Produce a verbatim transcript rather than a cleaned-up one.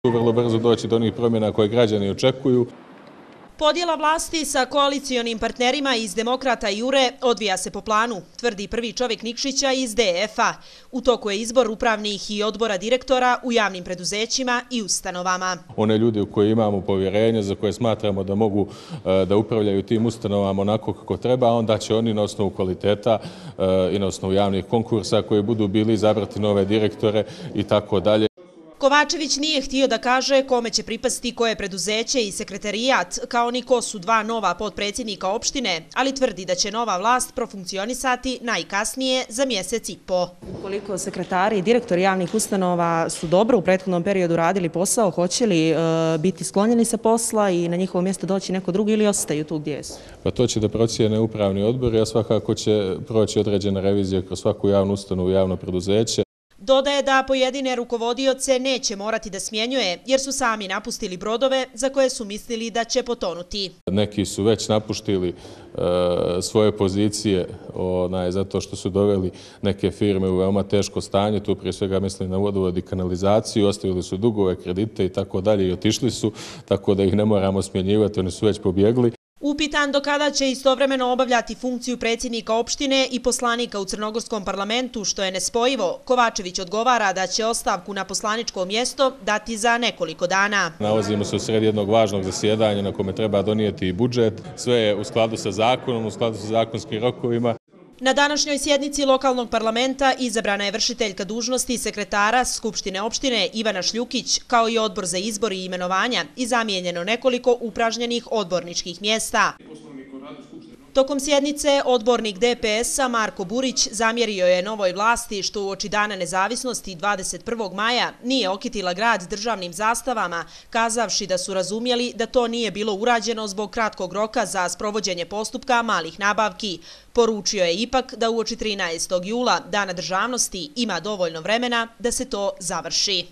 Vrlo brzo doći do onih promjena koje građani očekuju. Podjela vlasti sa koalicionim partnerima iz Demokrata i Jure odvija se po planu, tvrdi prvi čovjek Nikšića iz D F A. U toku je izbor upravnih i odbora direktora u javnim preduzećima i ustanovama. One ljude u koje imamo povjerenje, za koje smatramo da mogu da upravljaju tim ustanovama onako kako treba, onda će oni na osnovu kvaliteta i na osnovu javnih konkursa koji budu bili izabrati nove direktore i tako dalje. Kovačević nije htio da kaže kome će pripasti koje preduzeće i sekretarijat, kao ni ko su dva nova potpredsjednika opštine, ali tvrdi da će nova vlast profunkcionisati najkasnije za mjesec i po. Koliko sekretari i direktori javnih ustanova su dobro u prethodnom periodu radili posao, hoće li e, biti sklonjeni sa posla i na njihovo mjesto doći neko drugi ili ostaju tu gdje su? Pa to će da procijene upravni odbor, a svakako će proći određena revizija kroz svaku javnu ustanovu i javno preduzeće. Dodaje da pojedine rukovodioce neće morati da smjenjuje jer su sami napustili brodove za koje su mislili da će potonuti. Neki su već napuštili e, svoje pozicije onaj, zato što su doveli neke firme u veoma teško stanje, tu prije svega mislim na vodovod i kanalizaciju, ostavili su dugove, kredite i tako dalje i otišli su, tako da ih ne moramo smjenjivati, oni su već pobjegli. Upitan do kada će istovremeno obavljati funkciju predsjednika opštine i poslanika u Crnogorskom parlamentu, što je nespojivo, Kovačević odgovara da će ostavku na poslaničko mjesto dati za nekoliko dana. Nalazimo se u sred jednog važnog zasjedanja na kome treba donijeti i budžet. Sve je u skladu sa zakonom, u skladu sa zakonskim rokovima. Na današnjoj sjednici lokalnog parlamenta izabrana je vršiteljka dužnosti sekretara Skupštine opštine Ivana Šljukić, kao i odbor za izbor i imenovanja i zamijenjeno nekoliko upražnjenih odborničkih mjesta. Tokom sjednice odbornik D P S-a Marko Burić zamjerio je novoj vlasti što uoči Dana nezavisnosti dvadeset prvog maja nije okitila grad državnim zastavama, kazavši da su razumjeli da to nije bilo urađeno zbog kratkog roka za sprovođenje postupka malih nabavki. Poručio je ipak da uoči trinaestog jula, Dana državnosti, ima dovoljno vremena da se to završi.